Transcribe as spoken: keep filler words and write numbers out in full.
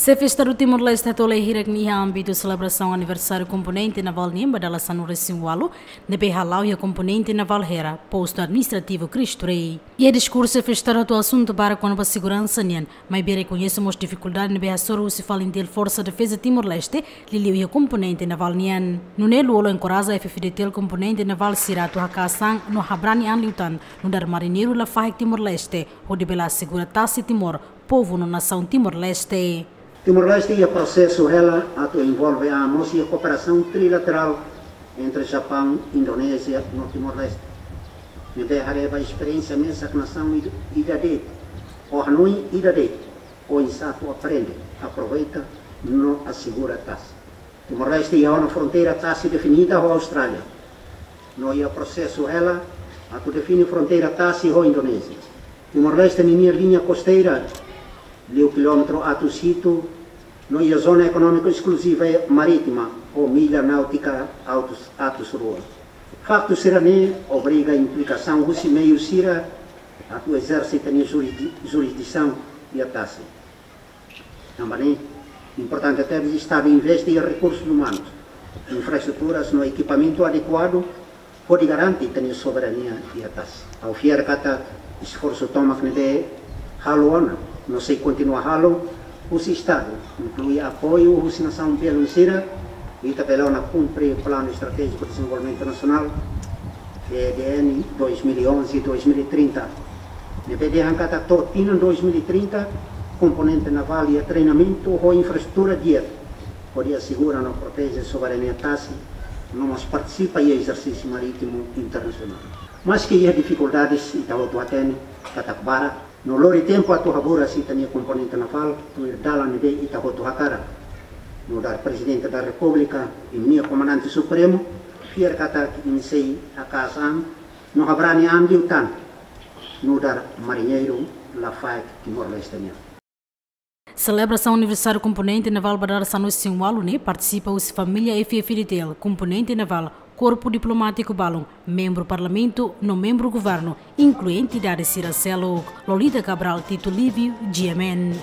Xefe Estadu Timor-Leste hato'o lai hirak nia iha ámbitu selebrasaun aniversáriu komponente navál nian ba dala sanulu-resin-ualu, ne'ebé hala'o iha komponente navál Hera, Postu Administrativu Cristo Rei. Iha diskursu, Xefe Estadu hato'o asuntu barak kona-ba seguransa nian, maibé rekoñese mós difikuldade ne'ebé hasoru husi FALINTIL, Forsa Defeza Timor-Leste, liuliu iha komponente navál nian. Nune'e Lú-Olo enkoraja F-FDTL komponente navál sira atu haka'as an no habrani an liután, nu'udar mariñeiru lafaek Timor-Leste, hodi bele asegura tasi Timor, povu no nasaun Timor-Leste. Timor-Leste iha prosesu hela atu envolve an mós iha kooperasaun trilaterál entre Japaun, Indonézia no Timor-Leste. Ne'ebé haree ba esperiénsia mesak nasaun ida, ida de'it, ho hanoin ida de'it, oinsá atu aprende, aproveita no asegura tasi. Timor-Leste iha ona fronteira tasi definida ho Austrália. No iha prosesu hela atu define fronteira tasi ho Indonézia. Timor-Leste ninia liña kosteira liu kilómetru atus hitu, no iha zona ekonómika eskluziva marítima ho milla náutika atus, atus rua. Faktu sira-ne'e obriga implikasaun husi meiu sira atu ezerse ita-nia jurisdi-, jurisdisaun iha tasi. Tanba ne'e, importante tebes Estadu investe iha rekursus umanus, infraestruturas no ekipamentu adekuadu, hodi garante ita-nia soberania iha tasi. Ha'u fiar katak esforsu tomak ne'ebé halo ona no sei kontinua halo husi Estadu, inklui apoiu husi nasaun belun sira, ita bele ona kumpre Planu Estratéjiku Dezenvolvimentu Nasionál, E D N, dois mil e onze, dois mil e trinta. Ne'ebé dehan katak to'o tinan dois mil e trinta, komponente navál iha treinamentu ho infraestrutura di'ak, hodi asegura no proteje soberania tasi, no mós partisipa iha ezersísiu marítimu internasionál. Maski iha difikuldades, ita hotu hatene katak barak, no lori tempu atu haburas ita-nia komponente navál tuir dalan ne'ebé ita hotu hakarak. Nu'udar Prezidente da Repúblika, imi-nia Komandante Supremu, fiar katak imi sei haka'as an no habrani an liután, nu'udar mariñeiru lafaek Timor-Leste nian. Selebrasaun aniversáriu komponente navál ba dala sanulu-resin-ualu ne'e partisipa husi família F-FDTL, komponente navál, korpu diplomátiku balun, membru parlamentu no membru governu, inklui entidade sira seluk. Lolita Cabral, Tito Livio, G M N.